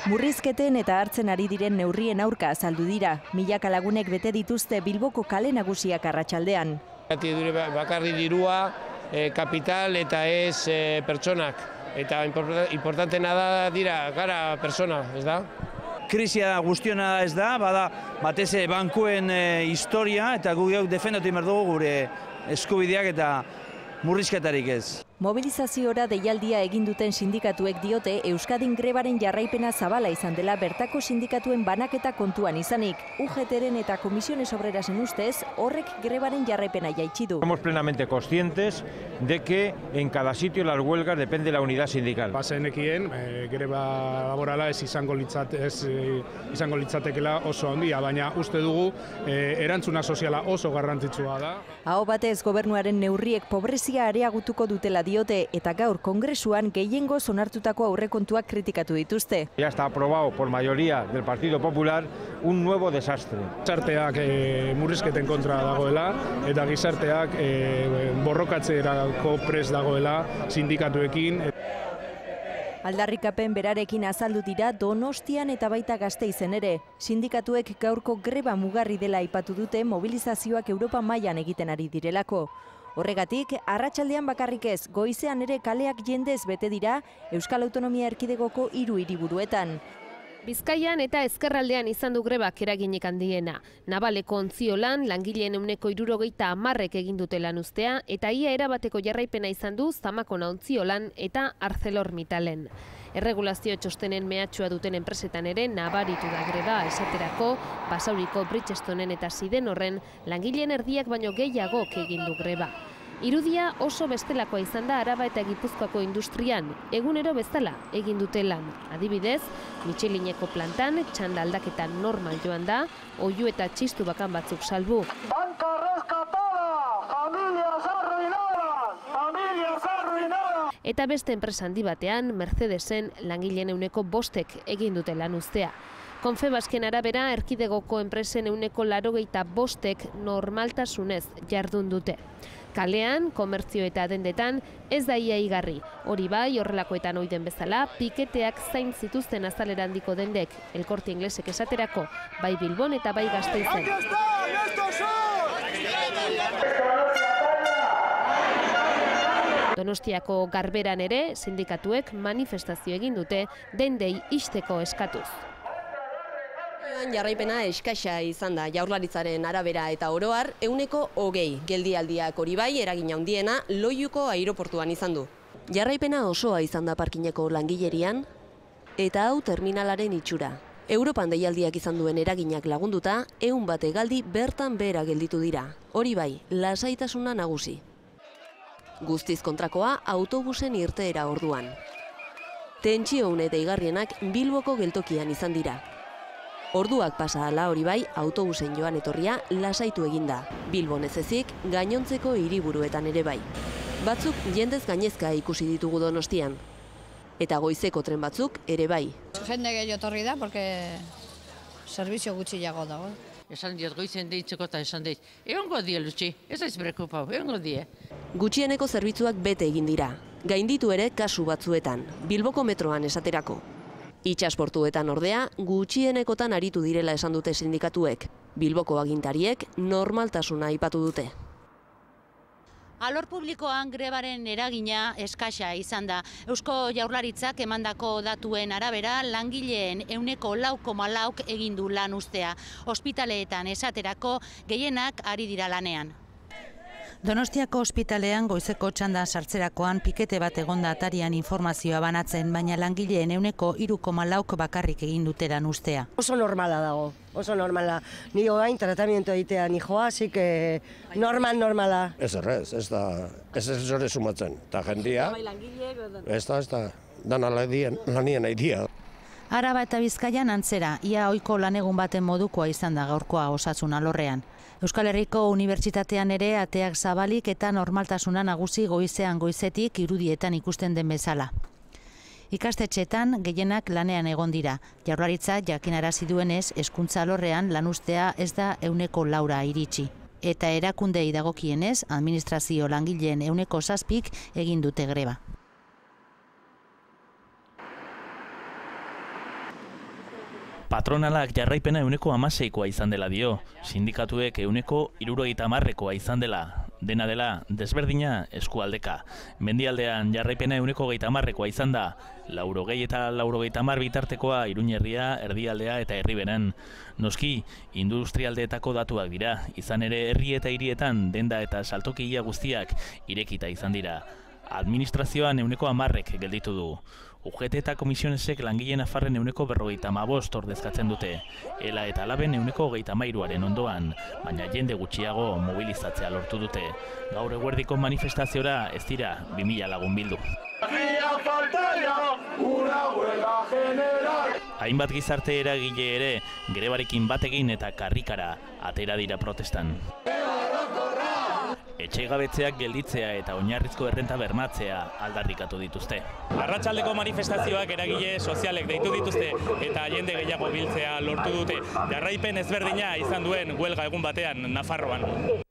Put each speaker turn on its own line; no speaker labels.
Murrizketen eta hartzen ari diren neurrien aurka azaldu dira. Milaka lagunek bete dituzte Bilboko kale nagusiak arratsaldean.
Bakarri dirua, kapital eta ez pertsonak. Eta importantena da dira gara persona, ez da?
Krisia guztiona ez da, bada batez bankuen historia eta guk defendatu behar dugu gure eskubideak eta murrizketarik ez.
Mobilizaziora deialdia egin duten sindikatuek diote Euskadin grebaren jarraipena zabala izan dela bertako sindikatuen banaketa kontuan izanik. UGTren eta Comisiones Obrerasen ustez horrek grebaren jarraipena jaitsi du.
Somos plenamente conscientes de que en cada sitio las huelgas depende de la unidad sindical.
Bazenekien greba laborala ez izango litzatekela oso handia, baina uste dugu erantzuna soziala oso garrantzitsua da.
Aho batez gobernuaren neurriek pobrezia areagutuko dutela diote eta gaur kongresuan gehiengoz onartutako aurrekontuak kritikatu dituzte.
Ya está aprobado por mayoría del Partido Popular un nuevo desastre.
Gizarteak murrizketen kontra dagoela eta gizarteak borrokatzerako prest dagoela sindikatuekin.
Aldarrikapen berarekin azaldu dira Donostian eta baita Gasteizen ere. Sindikatuek gaurko greba mugarri dela aipatu dute mobilizazioak Europa mailan egiten ari direlako. Horregatik, arratsaldean bakarrik ez, goizean ere kaleak jendez bete dira Euskal Autonomia Erkidegoko 3 hiriburuetan.
Bizkaian eta ezkerraldean izan du grebak eraginik handiena. Nabaleko Ontziolan langileen 70% egin dute lan uztea eta ia erabateko jarraipena izan du Zamakona Ontziolan eta ArcelorMittalen. Erregulazio txostenen mehatxua duten enpresetan ere nabaritu da greba, esaterako Basauriko Bridgestonen eta Sidenorren langileen erdiak baino gehiagok egin du greba. Irudia oso bestelakoa izan da Araba eta Gipuzkoako industrian, egunero bezala egin dute lan. Adibidez, Michelineko plantan txanda aldaketa normal joan da, oihu eta txistu bakan batzuk salbu.
Banka rescatada, familias arruinadas, familias arruinadas.
Eta beste enpresa handi batean, Mercedesen langileen 5% egin dute lan uztea. Confebasken arabera, erkidegoko enpresen 85% normaltasunez jardun dute. Kalean, komertzio eta dendetan ez da ia igarri. Hori bai, horrelakoetan oiden bezala, piketeak zain zituzten azalera handiko dendek, El Corte Inglesek esaterako, bai Bilbon eta bai Gasteizen. Donostiako Garberan ere, sindikatuek manifestazio egin dute dendei ixteko eskatuz.
Jarraipena eskaxa izan da Jaurlaritzaren arabera eta oroar 120 geldialdiak hori bai eragin handiena Loiuko aireportuan izan du. Jarraipena osoa izan da parkineko langilerian eta hau terminalaren itxura. Europan deialdiak izan duen eraginak lagunduta 100 hegaldi bertan behera gelditu dira. Hori bai, lasaitasuna nagusi. Guztiz kontrakoa autobusen irteera orduan. Tentsio une deigarrienak Bilboko geltokian izan dira. Orduak pasa ala hori bai, autobusen joan etorria lasaitu eginda. Bilbon ez ezik, gainontzeko hiriburuetan ere bai. Batzuk jendez gainezka ikusi ditugu Donostian. Eta goizeko tren batzuk ere bai.
Jende gehiago etorri da, porque servizio gutxiago dago.
Esan diot goizen deitzeko eta esan deit, egongo die Lutxi, ez aiz preokupau, egongo die.
Gutxieneko zerbitzuak bete egin dira. Gainditu ere kasu batzuetan, Bilboko metroan esaterako. Itxasportuetan ordea, gutxienekotan aritu direla esan dute sindikatuek. Bilboko agintariek normaltasuna aipatu dute.
Alor publikoan grebaren eragina eskaxa izan da. Eusko Jaurlaritzak emandako datuen arabera langileen 4,4% egin du lan uztea. Ospitaleetan esaterako gehienak ari dira lanean.
Donostiako ospitalean goizeko txandan sartzerakoan pikete bat egonda atarian informazioa banatzen, baina langileen 3,4% bakarrik egin dute lan uztea.
Oso normala dago, oso normala. Ni orain tratamiento egitea ni joa, así que normala.
Ez errez, ez zore sumatzen. Eta jendia, ez da, dana lanien aidia.
Araba eta Bizkaian antzera, ia ohiko lanegun baten modukoa izan da gaurkoa osasun alorrean. Euskal Herriko Unibertsitatean ere ateak zabalik eta normaltasuna nagusi goizean goizetik irudietan ikusten den bezala. Ikastetxeetan gehienak lanean egon dira. Jaurlaritza jakinarazi duenez, hezkuntza alorrean lanuztea ez da 4% iritsi. Eta erakundei dagokienez, administrazio langileen 7% egin dute greba.
Patronalak jarraipena 16%koa izan dela dio, sindikatuek 70%koa izan dela. Dena dela, desberdina eskualdeka. Mendialdean jarraipena 30%koa izan da, 80 eta 90 bitartekoa Iruñerria, Erdialdea eta Herriberan. Noski, industrialdeetako datuak dira, izan ere herri eta hirietan denda eta saltokia guztiak irekita izan dira. Administrazioan 10% gelditu du. UGT eta komisionesek langileen afarren 55% ordezkatzen dute. Ela eta Laben 33%aren ondoan, baina jende gutxiago mobilizatzea lortu dute. Gaur eguerdiko manifestaziora ez dira 2000 lagun bildu. Hainbat gizarte eragile ere grebarekin batekin eta karrikara atera dira protestan. Etxegabetzeak gelditzea eta oinarrizko errenta bermatzea aldarrikatu dituzte.
Arratsaldeko manifestazioak eragile sozialek deitu dituzte eta jende gehiago biltzea lortu dute. Jarraipen ezberdina izan duen huelga egun batean Nafarroan.